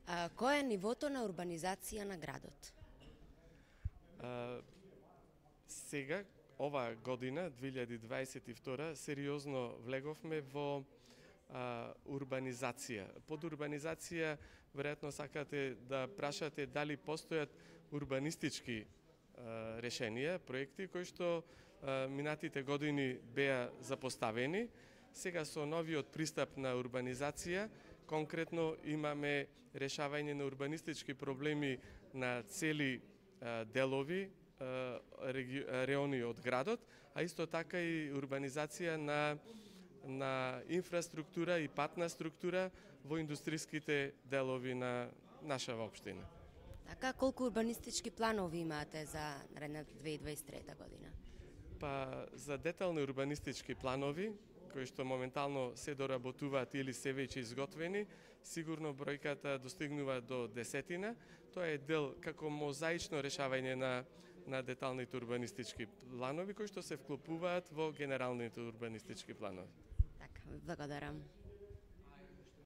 Кој е нивото на урбанизација на градот? Сега, оваа година, 2022, сериозно влеговме во урбанизација. Под урбанизација, веројатно сакате да прашате дали постојат урбанистички решенија, проекти кои што минатите години беа запоставени. Сега со новиот пристап на урбанизација, конкретно имаме решавање на урбанистички проблеми на цели делови, реони од градот, а исто така и урбанизација на инфраструктура и патна структура во индустријските делови на нашава општина. Така, колку урбанистички планови имате за наредната 2023 година? Па, за детални урбанистички планови, кои што моментално се доработуваат или се веќе изготвени, сигурно бројката достигнува до 10. Тоа е дел како мозаично решавање на деталните урбанистички планови кои што се вклопуваат во генералните урбанистички планови. Така, благодарам.